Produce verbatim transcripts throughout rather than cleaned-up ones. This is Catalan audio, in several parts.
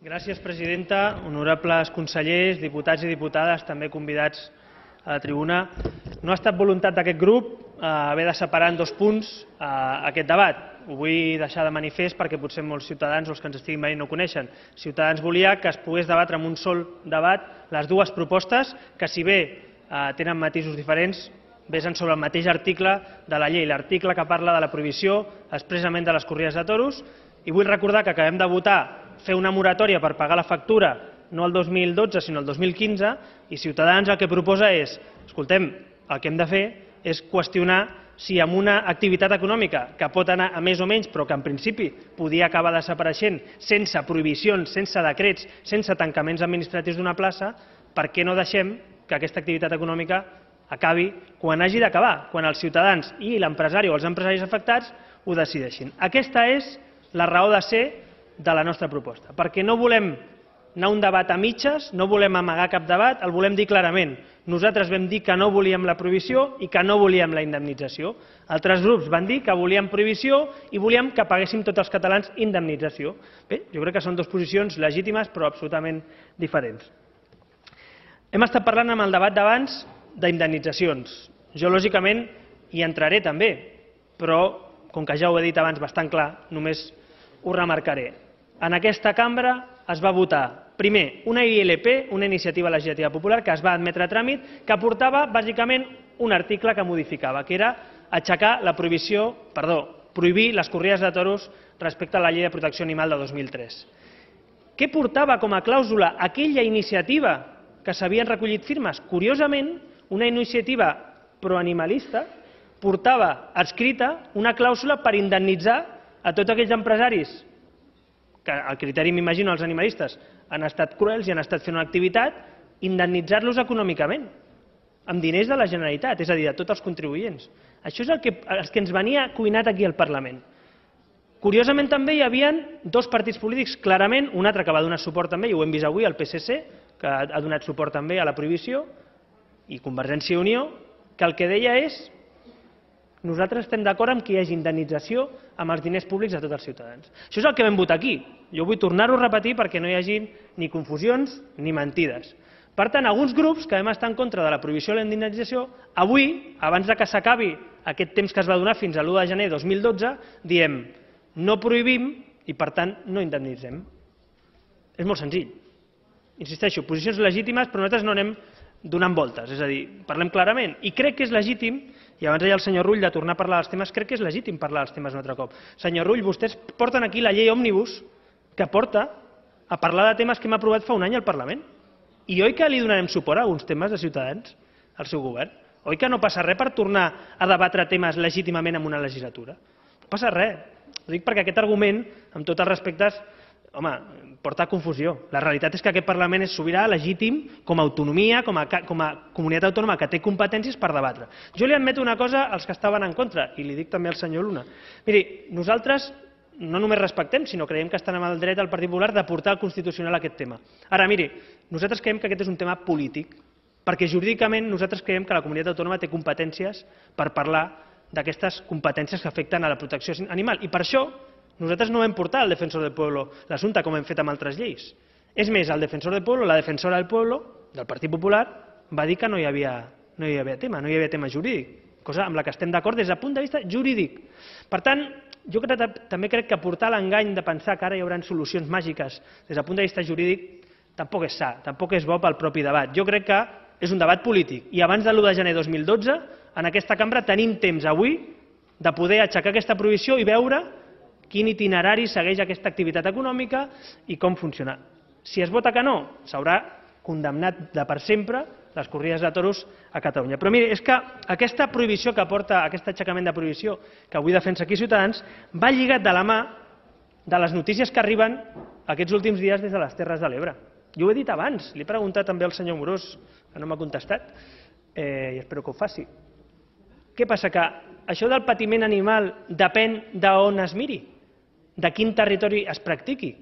Gràcies, presidenta. Honorables consellers, diputats i diputades, també convidats a la tribuna. No ha estat voluntat d'aquest grup haver de separar en dos punts aquest debat. Ho vull deixar de manifest perquè potser molts ciutadans o els que ens estiguin veient no ho coneixen. Ciutadans volia que es pogués debatre en un sol debat les dues propostes que, si bé tenen matisos diferents, vesen sobre el mateix article de la llei, l'article que parla de la prohibició expressament de les corrides de toros. I vull recordar que acabem de votar fer una moratòria per pagar la factura no el dos mil dotze sinó el dos mil quinze, i Ciutadans el que proposa és, escoltem, el que hem de fer és qüestionar si amb una activitat econòmica que pot anar a més o menys però que en principi podia acabar desapareixent sense prohibicions, sense decrets, sense tancaments administratius d'una plaça, per què no deixem que aquesta activitat econòmica acabi quan hagi d'acabar, quan els ciutadans i l'empresari o els empresaris afectats ho decideixin. Aquesta és la raó de ser de la nostra proposta, perquè no volem anar a un debat a mitges, no volem amagar cap debat, el volem dir clarament. Nosaltres vam dir que no volíem la prohibició i que no volíem la indemnització. Altres grups van dir que volíem prohibició i volíem que paguéssim tots els catalans indemnització. Bé, jo crec que són dues posicions legítimes però absolutament diferents. Hem estat parlant amb el debat d'abans d'indemnitzacions. Jo, lògicament, hi entraré també, però, com que ja ho he dit abans bastant clar, només ho remarcaré. En aquesta cambra es va votar, primer, una I L P, una iniciativa legislativa popular, que es va admetre a tràmit, que portava, bàsicament, un article que modificava, que era aixecar la prohibició, perdó, prohibir les corrides de toros respecte a la llei de protecció animal de dos mil tres. Què portava com a clàusula aquella iniciativa que s'havien recollit firmes? Curiosament, una iniciativa proanimalista portava adscrita una clàusula per indemnitzar a tots aquells empresaris que, al criteri, m'imagino, els animalistes han estat cruels i han estat fent una activitat, indemnitzar-los econòmicament, amb diners de la Generalitat, és a dir, de tots els contribuents. Això és el que, el que ens venia cuinat aquí al Parlament. Curiosament, també hi havia dos partits polítics, clarament, un altre que va donar suport també, i ho hem vist avui, el P S C, que ha donat suport també a la prohibició, i Convergència i Unió, que el que deia és: nosaltres estem d'acord amb que hi hagi indemnització amb els diners públics de tots els ciutadans. Això és el que vam votar aquí. Jo vull tornar-ho a repetir perquè no hi hagi ni confusions ni mentides. Per tant, alguns grups que vam estar en contra de la prohibició de la indemnització, avui, abans que s'acabi aquest temps que es va donar fins a l'u de gener de dos mil dotze, diem no prohibim i, per tant, no indemnitzem. És molt senzill. Insisteixo, posicions legítimes, però nosaltres no anem donant voltes, és a dir, parlem clarament. I crec que és legítim, i abans deia el senyor Rull de tornar a parlar dels temes, crec que és legítim parlar dels temes un altre cop. Senyor Rull, vostès porten aquí la llei òmnibus que porta a parlar de temes que hem aprovat fa un any al Parlament. I oi que li donarem suport a alguns temes de Ciutadans al seu govern? Oi que no passa res per tornar a debatre temes legítimament en una legislatura? No passa res. Ho dic perquè aquest argument, amb tots els respectes, home, porta a confusió. La realitat és que aquest Parlament és sobirà, legítim, com a autonomia, com a, com a comunitat autònoma que té competències per debatre. Jo li admeto una cosa als que estaven en contra, i li dic també al senyor Luna. Miri, nosaltres no només respectem, sinó creiem que estan amb el dret del Partit Popular de portar al Constitucional aquest tema. Ara, miri, nosaltres creiem que aquest és un tema polític, perquè jurídicament nosaltres creiem que la comunitat autònoma té competències per parlar d'aquestes competències que afecten a la protecció animal. I per això nosaltres no vam portar al Defensor del Pueblo l'assumpte com hem fet amb altres lleis. És més, el Defensor del Pueblo, la defensora del Pueblo, del Partit Popular, va dir que no hi havia, no hi havia tema, no hi havia tema jurídic, cosa amb la que estem d'acord des del punt de vista jurídic. Per tant, jo crec, també crec que portar l'engany de pensar que ara hi haurà solucions màgiques des del punt de vista jurídic tampoc és sa, tampoc és bo pel propi debat. Jo crec que és un debat polític i abans de l'u de gener de dos mil dotze en aquesta cambra tenim temps avui de poder aixecar aquesta prohibició i veure quin itinerari segueix aquesta activitat econòmica i com funciona. Si es vota que no, s'haurà condemnat de per sempre les corrides de toros a Catalunya. Però miri, és que aquesta prohibició que porta, aquest aixecament de prohibició que avui defensa aquí Ciutadans, va lligat de la mà de les notícies que arriben aquests últims dies des de les Terres de l'Ebre. Jo ho he dit abans, li he preguntat també al senyor Amorós, que no m'ha contestat, i espero que ho faci. Què passa? Que això del patiment animal depèn d'on es miri? De quin territori es practiqui?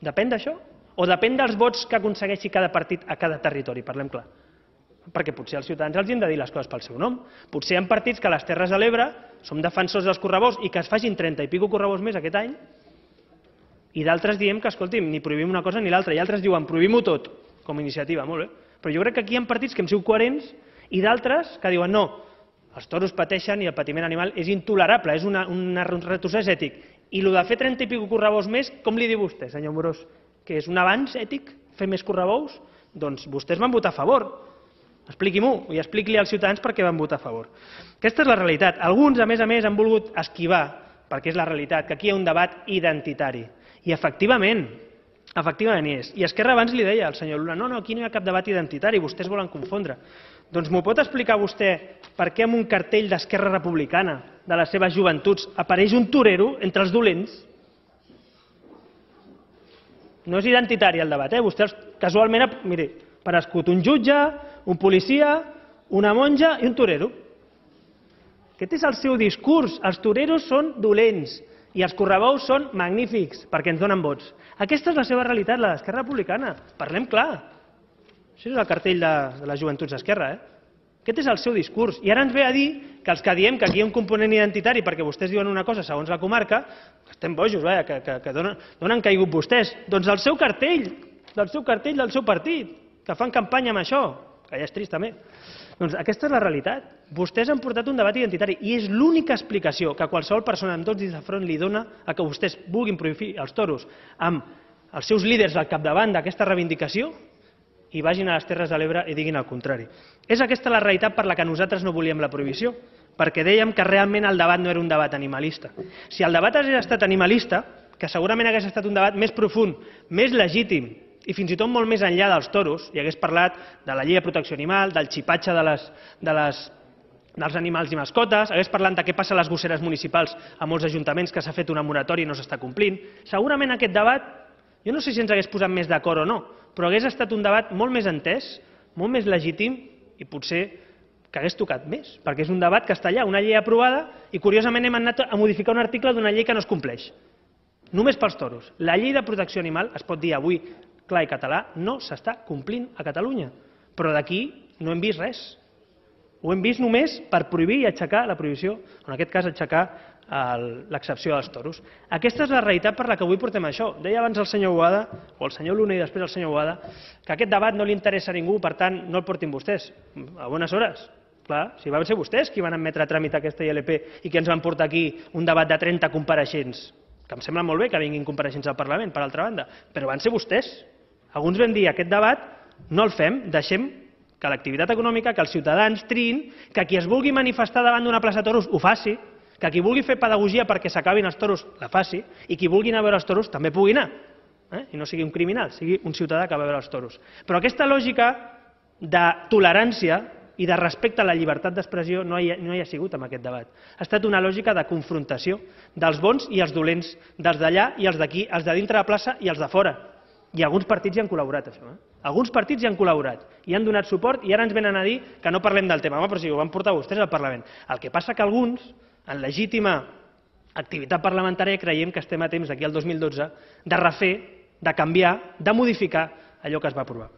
Depèn d'això? O depèn dels vots que aconsegueixi cada partit a cada territori? Parlem clar. Perquè potser als ciutadans els hem de dir les coses pel seu nom. Potser hi ha partits que a les Terres de l'Ebre som defensors dels correbous i que es facin trenta i pico correbous més aquest any I d'altres diem que, escolti'm, ni prohibim una cosa ni l'altra. I altres diuen, prohibim-ho tot, com a iniciativa, molt bé. Però jo crec que aquí hi ha partits que hem sigut coherents i d'altres que diuen, no, els toros pateixen i el patiment animal és intolerable, és una, un retrocés ètic. I el de fer trenta i pico correbous més, com li diu vostè, senyor Amorós? Que és un avanç ètic, fer més correbous? Doncs vostès van votar a favor. Expliqui-m'ho i expliqui-li als ciutadans per què van votar a favor. Aquesta és la realitat. Alguns, a més a més, han volgut esquivar, perquè és la realitat, que aquí hi ha un debat identitari. I efectivament, efectivament hi és. I Esquerra abans li deia al senyor Luna, no, no, aquí no hi ha cap debat identitari, vostès volen confondre. Doncs m'ho pot explicar vostè per què amb un cartell d'Esquerra Republicana, de les seves joventuts, apareix un torero entre els dolents? No és identitari el debat, eh? Vostès casualment, miri, per escut un jutge, un policia, una monja i un torero. Aquest és el seu discurs. Els toreros són dolents i els correbous són magnífics perquè ens donen vots. Aquesta és la seva realitat, la d'Esquerra Republicana. Parlem clar. Això és el cartell de, de les joventuts d'Esquerra, eh? Aquest és el seu discurs. I ara ens ve a dir que els que diem que aquí hi ha un component identitari perquè vostès diuen una cosa segons la comarca, que estem bojos, vaja, que, que, que donen, donen caigut vostès. Doncs el seu cartell, del seu cartell del seu partit, que fan campanya amb això, que ja és trist també. Doncs aquesta és la realitat. Vostès han portat un debat identitari i és l'única explicació que qualsevol persona amb dos dits de front li dona a que vostès vulguin prohibir els toros amb els seus líders al capdavant d'aquesta reivindicació i vagin a les Terres de l'Ebre i diguin el contrari. És aquesta la realitat per la que nosaltres no volíem la prohibició, perquè dèiem que realment el debat no era un debat animalista. Si el debat hagués estat animalista, que segurament hagués estat un debat més profund, més legítim, i fins i tot molt més enllà dels toros, i hagués parlat de la llei de protecció animal, del xipatge de les, de les, dels animals i mascotes, hagués parlat de què passa a les gosseres municipals a molts ajuntaments que s'ha fet una moratòria i no s'està complint. Segurament aquest debat, jo no sé si ens hagués posat més d'acord o no, però hagués estat un debat molt més entès, molt més legítim i potser que hagués tocat més, perquè és un debat que està allà, una llei aprovada, i curiosament hem anat a modificar un article d'una llei que no es compleix. Només pels toros. La llei de protecció animal, es pot dir avui clar i català, no s'està complint a Catalunya. Però d'aquí no hem vist res. Ho hem vist només per prohibir i aixecar la prohibició, en aquest cas aixecar l'excepció dels toros. Aquesta és la realitat per la que avui portem això. Deia abans el senyor Boada, o el senyor Luna i després el senyor Boada, que aquest debat no li interessa a ningú, per tant, no el portin vostès. A bones hores. Clar, si van ser vostès qui van admetre a tràmit aquesta I L P i que ens van portar aquí un debat de trenta compareixents, que em sembla molt bé que vinguin compareixents al Parlament, per altra banda, però van ser vostès. Alguns vam dir, aquest debat no el fem, deixem que l'activitat econòmica, que els ciutadans triïn, que qui es vulgui manifestar davant d'una plaça de toros ho faci, que qui vulgui fer pedagogia perquè s'acabin els toros la faci, i qui vulgui anar a veure els toros també pugui anar, eh? I no sigui un criminal, sigui un ciutadà que va a veure els toros. Però aquesta lògica de tolerància i de respecte a la llibertat d'expressió no hi, ha, no hi ha sigut en aquest debat. Ha estat una lògica de confrontació dels bons i els dolents, dels d'allà i els d'aquí, els de dintre de la plaça i els de fora. I alguns partits hi han col·laborat, això. Eh? Alguns partits hi han col·laborat, hi han donat suport i ara ens venen a dir que no parlem del tema. Home, però si ho van portar vostès al Parlament. El que passa que alguns, en legítima activitat parlamentària, creiem que estem a temps, d'aquí al dos mil dotze, de refer, de canviar, de modificar allò que es va aprovar.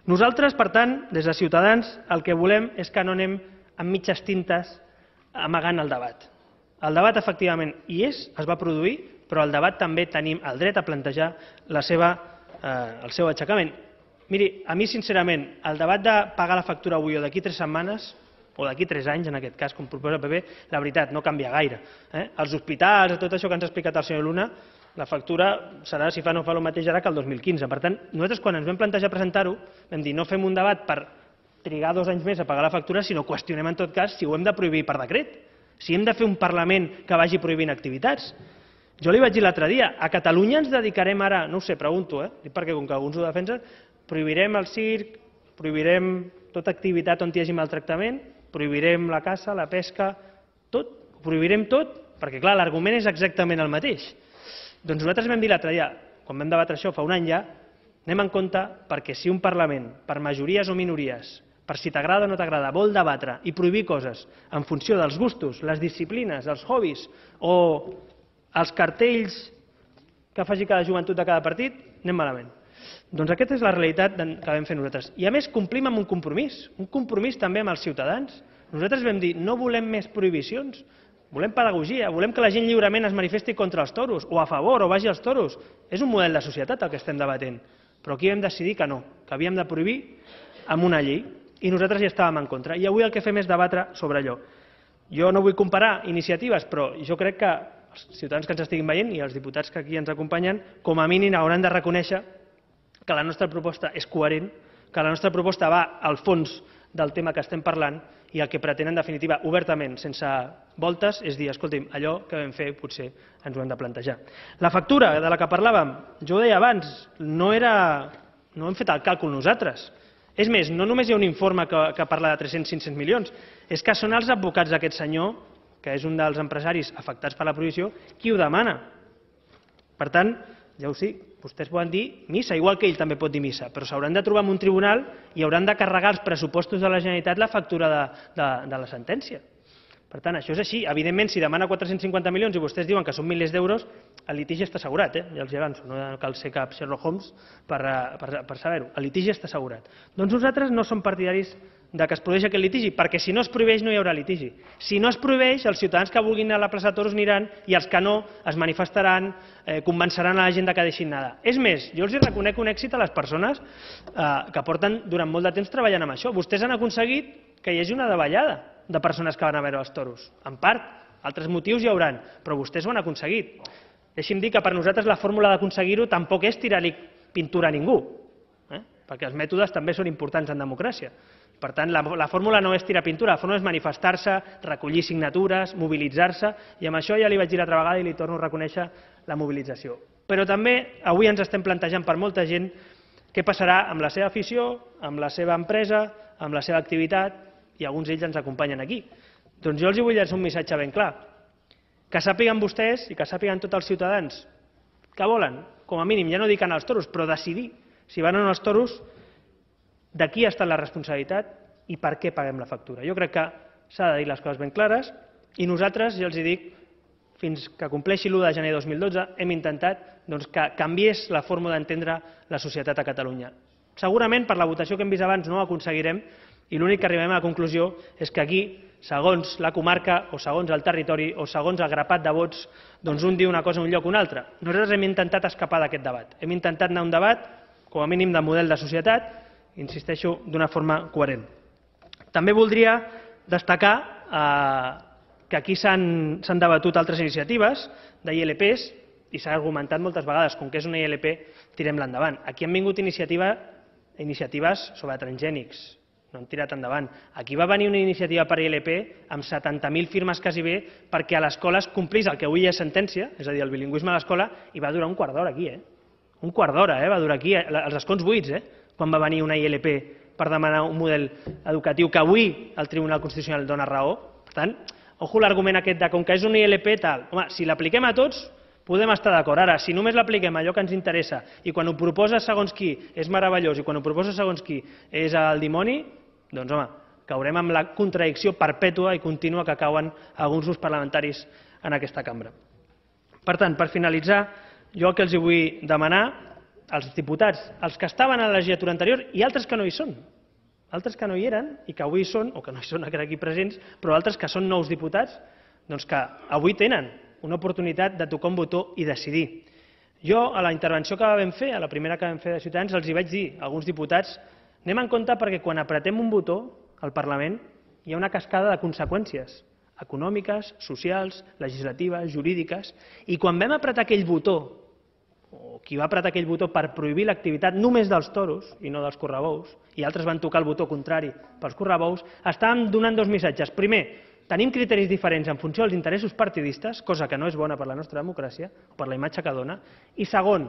Nosaltres, per tant, des de Ciutadans, el que volem és que no anem amb mitges tintes amagant el debat. El debat, efectivament, hi és, es va produir, però al debat també tenim el dret a plantejar la seva, eh, el seu aixecament. Miri, a mi, sincerament, el debat de pagar la factura avui o d'aquí tres setmanes, o d'aquí tres anys, en aquest cas, com proposa el P P, la veritat, no canvia gaire. Eh? Els hospitals, tot això que ens ha explicat el senyor Luna, la factura serà, si fa no fa el mateix ara que el dos mil quinze. Per tant, nosaltres quan ens vam plantejar presentar-ho, vam dir no fem un debat per trigar dos anys més a pagar la factura, sinó qüestionem en tot cas si ho hem de prohibir per decret, si hem de fer un Parlament que vagi prohibint activitats. Jo li vaig dir l'altre dia, a Catalunya ens dedicarem ara, no ho sé, pregunto, eh? perquè com que alguns ho defensen, prohibirem el circ, prohibirem tota activitat on hi hagi maltractament, prohibirem la caça, la pesca, tot, ho prohibirem tot, perquè clar, l'argument és exactament el mateix. Doncs nosaltres vam dir l'altre dia, quan vam debatre això fa un any ja, anem en compte perquè si un Parlament, per majories o minories, per si t'agrada o no t'agrada, vol debatre i prohibir coses en funció dels gustos, les disciplines, els hobbies o els cartells que faci cada joventut de cada partit, anem malament. Doncs aquesta és la realitat que vam fer nosaltres. I a més complim amb un compromís, un compromís també amb els ciutadans. Nosaltres vam dir no volem més prohibicions, volem pedagogia, volem que la gent lliurement es manifesti contra els toros, o a favor, o vagi als toros. És un model de societat el que estem debatent. Però aquí vam decidir que no, que havíem de prohibir amb una llei, i nosaltres hi estàvem en contra. I avui el que fem és debatre sobre allò. Jo no vull comparar iniciatives, però jo crec que els ciutadans que ens estiguin veient i els diputats que aquí ens acompanyen, com a mínim hauran de reconèixer que la nostra proposta és coherent, que la nostra proposta va al fons del tema que estem parlant i el que pretén, en definitiva, obertament, sense voltes, és dir, escolti'm, allò que vam fer potser ens ho hem de plantejar. La factura de la que parlàvem, jo ho deia abans, no era... no hem fet el càlcul nosaltres. És més, no només hi ha un informe que, que parla de tres-cents cinc-cents milions, és que són els advocats d'aquest senyor, que és un dels empresaris afectats per la prohibició, qui ho demana. Per tant, ja ho sé, vostès poden dir missa, igual que ell també pot dir missa, però s'hauran de trobar en un tribunal i hauran de carregar als pressupostos de la Generalitat la factura de, de, de la sentència. Per tant, això és així. Evidentment, si demana quatre-cents cinquanta milions i vostès diuen que són milers d'euros, el litigi està assegurat, eh? Ja els hi avanço, no cal ser cap Sherlock Holmes per, per, per saber-ho. El litigi està assegurat. Doncs nosaltres no som partidaris de que es prohibeixi aquest litigi, perquè si no es prohibeix no hi haurà litigi. Si no es prohibeix, els ciutadans que vulguin anar a la plaça de Toros aniran i els que no es manifestaran, eh, convenceran a la gent que deixin anar. És més, jo els reconec un èxit a les persones eh, que porten durant molt de temps treballant amb això. Vostès han aconseguit que hi hagi una davallada de persones que van a veure els toros. En part, altres motius hi hauran, però vostès ho han aconseguit. Deixi'm dir que per nosaltres la fórmula d'aconseguir-ho tampoc és tirar-li pintura a ningú, eh? perquè els mètodes també són importants en democràcia. Per tant, la, la fórmula no és tirar pintura, la fórmula és manifestar-se, recollir signatures, mobilitzar-se, i amb això ja li vaig dir l'altra vegada i li torno a reconèixer la mobilització. Però també avui ens estem plantejant per molta gent què passarà amb la seva afició, amb la seva empresa, amb la seva activitat, i alguns d'ells ens acompanyen aquí. Doncs jo els vull llançar un missatge ben clar. Que sàpiguen vostès i que sàpiguen tots els ciutadans que volen, com a mínim, ja no dic anar als toros, però decidir si van o no als toros, de qui ha estat la responsabilitat i per què paguem la factura. Jo crec que s'ha de dir les coses ben clares i nosaltres, ja els dic, fins que compleixi l'u de gener de dos mil dotze, hem intentat doncs, que canviés la forma d'entendre la societat a Catalunya. Segurament, per la votació que hem vist abans, no ho aconseguirem, i l'únic que arribem a la conclusió és que aquí, segons la comarca, o segons el territori, o segons el grapat de vots, doncs un diu una cosa en un lloc o un altre. Nosaltres hem intentat escapar d'aquest debat. Hem intentat anar a un debat, com a mínim de model de societat, insisteixo, d'una forma coherent. També voldria destacar eh, que aquí s'han debatut altres iniciatives de I L Ps i s'ha argumentat moltes vegades, com que és una I L P, tirem-la endavant. Aquí han vingut iniciativa, iniciatives sobre transgènics, no han tirat endavant. Aquí va venir una iniciativa per I L P amb setanta mil firmes quasi bé perquè a l'escola es complís el que avui és sentència, és a dir, el bilingüisme a l'escola, i va durar un quart d'hora aquí, eh? Un quart d'hora, eh? Va durar aquí, els escons buits, eh? Quan va venir una I L P per demanar un model educatiu que avui el Tribunal Constitucional dona raó. Per tant, ojo l'argument aquest de com que és una I L P tal. Home, si l'apliquem a tots, podem estar d'acord. Ara, si només l'apliquem a allò que ens interessa i quan ho proposa segons qui és meravellós i quan ho proposa segons qui és el dimoni, doncs, home, caurem amb la contradicció perpètua i contínua que cauen alguns grups parlamentaris en aquesta cambra. Per tant, per finalitzar, jo el que els vull demanar als diputats, els que estaven a la legislatura anterior i altres que no hi són, altres que no hi eren i que avui hi són, o que no hi són aquí presents, però altres que són nous diputats, doncs que avui tenen una oportunitat de tocar un botó i decidir. Jo, a la intervenció que vam fer, a la primera que vam fer de Ciutadans, els hi vaig dir a alguns diputats: anem en compte perquè quan apretem un botó al Parlament hi ha una cascada de conseqüències econòmiques, socials, legislatives, jurídiques, i quan vam apretar aquell botó, o qui va apretar aquell botó per prohibir l'activitat només dels toros i no dels correbous, i altres van tocar el botó contrari pels correbous, estàvem donant dos missatges. Primer, tenim criteris diferents en funció dels interessos partidistes, cosa que no és bona per la nostra democràcia, per la imatge que dona, i segon,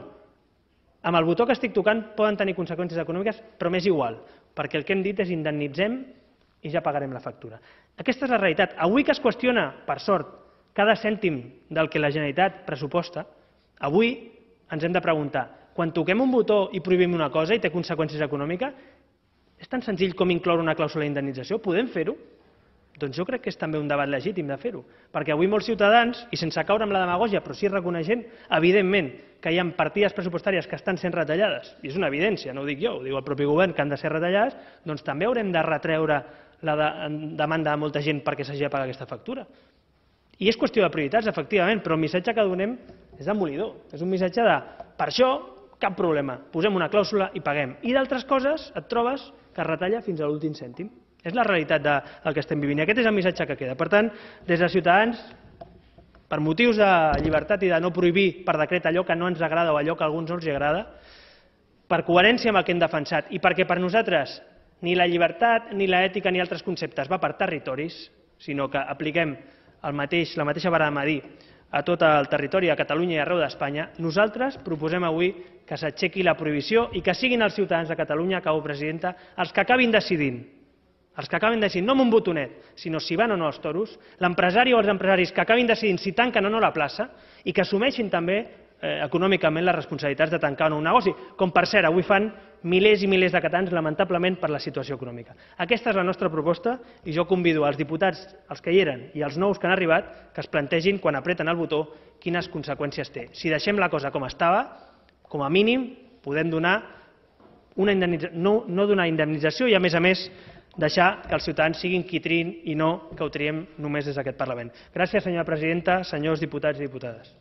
amb el botó que estic tocant poden tenir conseqüències econòmiques, però m'és igual, perquè el que hem dit és indemnitzem i ja pagarem la factura. Aquesta és la realitat. Avui que es qüestiona, per sort, cada cèntim del que la Generalitat pressuposta, avui ens hem de preguntar, quan toquem un botó i prohibim una cosa i té conseqüències econòmiques, és tan senzill com incloure una clàusula d'indemnització? Podem fer-ho? Doncs jo crec que és també un debat legítim de fer-ho, perquè avui molts ciutadans, i sense caure amb la demagògia, però sí reconeixent, evidentment, que hi ha partides pressupostàries que estan sent retallades, i és una evidència, no ho dic jo, ho diu el propi govern, que han de ser retallades, doncs també haurem de retreure la de, demanda de molta gent perquè s'hagi de pagar aquesta factura. I és qüestió de prioritats, efectivament, però el missatge que donem és demolidor. És un missatge de, per això, cap problema, posem una clàusula i paguem. I d'altres coses et trobes que es retalla fins a l'últim cèntim. És la realitat del que estem vivint i aquest és el missatge que queda. Per tant, des de Ciutadans, per motius de llibertat i de no prohibir per decret allò que no ens agrada o allò que a alguns no els agrada, per coherència amb el que hem defensat i perquè per nosaltres ni la llibertat, ni l'ètica, ni altres conceptes va per territoris, sinó que apliquem el mateix, la mateixa vara de medir a tot el territori, a Catalunya i arreu d'Espanya, nosaltres proposem avui que s'aixequi la prohibició i que siguin els ciutadans de Catalunya, acabo, presidenta, els que acabin decidint, els que acabin decidint, no amb un botonet, sinó si van o no als toros, l'empresari o els empresaris que acabin decidint si tanquen o no la plaça i que assumeixin també eh, econòmicament les responsabilitats de tancar o no un negoci, com per cert avui fan milers i milers de catalans, lamentablement, per la situació econòmica. Aquesta és la nostra proposta i jo convido als diputats, els que hi eren i els nous que han arribat, que es plantegin, quan apreten el botó, quines conseqüències té. Si deixem la cosa com estava, com a mínim podem donar una indemnització, no, no donar indemnització i, a més a més, deixar que els ciutadans siguin qui triïn i no que ho triem només des d'aquest Parlament. Gràcies, senyora presidenta, senyors diputats i diputades.